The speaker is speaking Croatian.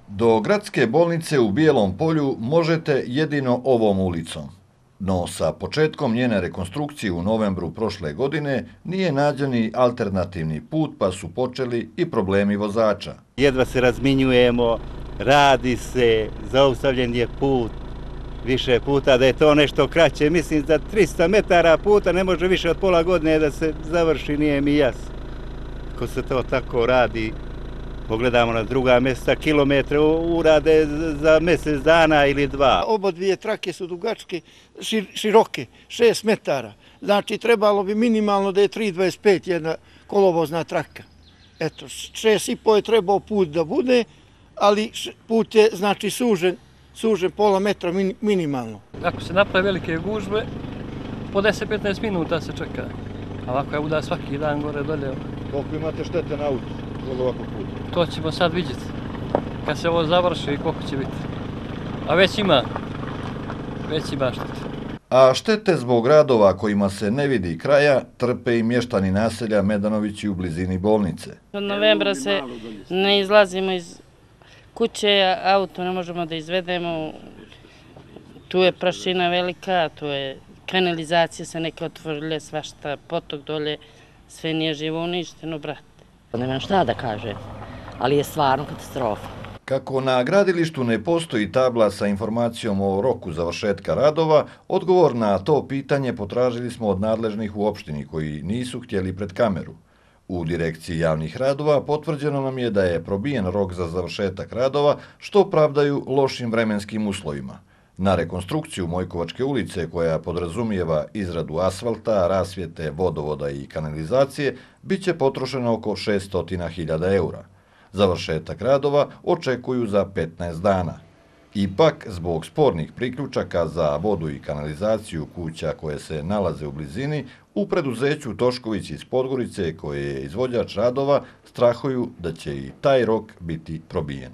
Do gradske bolnice u Bijelom Polju možete jedino ovom ulicom. No sa početkom njene rekonstrukcije u novembru prošle godine nije nađen ni alternativni put pa su počeli i problemi vozača. Jedva se razminjujemo, radi se, zaustavljen je put više puta, da je to nešto kraće. Mislim da 300 metara puta ne može više od pola godine da se završi, nije mi jasno. Ko se to tako radi, pogledamo na druga mjesta, kilometre urade za mjesec dana ili dva. Oba dvije trake su dugačke, široke, 6 metara. Znači trebalo bi minimalno da je 3,25 jedna kolovozna traka. Eto, 6,5 je trebao put da bude, ali put je znači sužen pola metra minimalno. Ako se naprave velike gužve, po 10-15 minuta se čeka. A ovako je uda svaki dan gore dolje. Koliko imate štete na auto od ovakvog puta? To ćemo sad vidjeti. Kad se ovo završi i koliko će biti. A već ima štete. A štete zbog radova kojima se ne vidi kraja trpe i mještani naselja Medanovići u blizini bolnice. Od novembra se ne izlazimo iz kuće, auto ne možemo da izvedemo. Tu je prašina velika, tu je kanalizacija se neke otvorile, svašta, potok dolje, sve nije živo uništeno, brate. Nemam šta da kaže, ali je stvarno katastrofa. Kako na gradilištu ne postoji tabla sa informacijom o roku završetka radova, odgovor na to pitanje potražili smo od nadležnih u opštini koji nisu htjeli pred kameru. U direkciji javnih radova potvrđeno nam je da je probijen rok za završetak radova, što pravdaju lošim vremenskim uslovima. Na rekonstrukciju Mojkovačke ulice, koja podrazumijeva izradu asfalta, rasvjete, vodovoda i kanalizacije, bit će potrošeno oko 600.000 eura. Završetak radova očekuju za 15 dana. Ipak, zbog spornih priključaka za vodu i kanalizaciju kuća koje se nalaze u blizini, u preduzeću Tošković iz Podgorice, koje je izvođač radova, strahuju da će i taj rok biti probijen.